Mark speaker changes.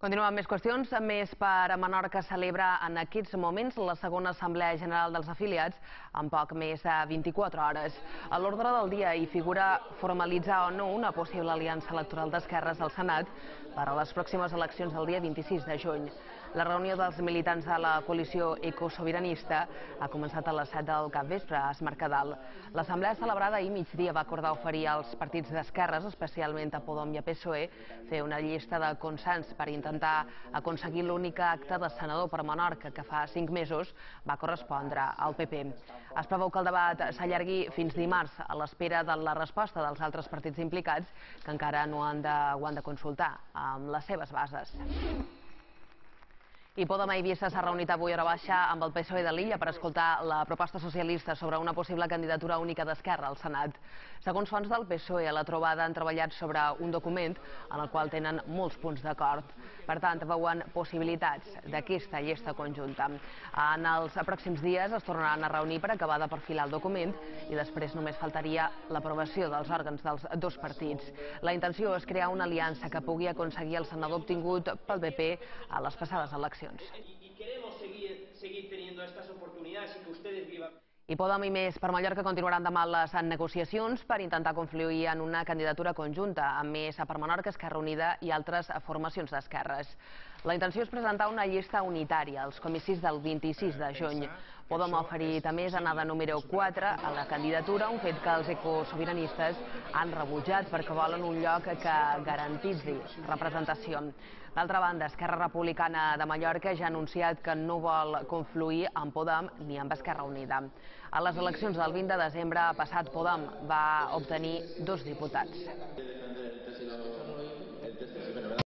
Speaker 1: Continuem amb més qüestions. Més per Menorca celebra en aquests moments la segona Assemblea General dels afiliats en poc més de 24 hores. A l'ordre del dia hi figura formalitzar o no una possible aliança electoral d'esquerres al Senat per a les pròximes eleccions del dia 26 de juny. La reunió dels militants de la coalició ecosobiranista ha començat a les 7 del capvespre a Es Mercadal. L'assemblea celebrada ahir migdia va acordar oferir als partits d'esquerres, especialment a Podem i a PSOE, fer una llista de consens per intentar aconseguir l'únic acte de senador per Menorca que fa 5 mesos va correspondre al PP. Es preveu que el debat s'allargui fins dimarts a l'espera de la resposta dels altres partits implicats que encara no ho han de consultar amb les seves bases. I Podem a Eivissa s'ha reunit avui a hora baixa amb el PSOE de l'illa per escoltar la proposta socialista sobre una possible candidatura única d'Esquerra al Senat. Segons fonts del PSOE, a la trobada han treballat sobre un document en el qual tenen molts punts d'acord. Per tant, veuen possibilitats d'aquesta llista conjunta. En els pròxims dies es tornaran a reunir per acabar de perfilar el document i després només faltaria l'aprovació dels òrgans dels dos partits. La intenció és crear una aliança que pugui aconseguir el senador obtingut pel PP a les passades eleccions.
Speaker 2: Y queremos seguir teniendo estas oportunidades y que ustedes vivan.
Speaker 1: I Podem i Més per Mallorca continuaran demà les negociacions per intentar confluir en una candidatura conjunta amb Més per Menorca, Esquerra Unida i altres formacions d'esquerres. La intenció és presentar una llista unitària als comicis del 26 de juny. Podem ha oferit a Més anar de número 4 a la candidatura, un fet que els ecosobiranistes han rebutjat perquè volen un lloc que garantitzi representació. D'altra banda, Esquerra Republicana de Mallorca ja ha anunciat que no vol confluir amb Podem ni amb Esquerra Unida. A les eleccions del 20 de desembre passat, Podem va obtenir 2 diputats.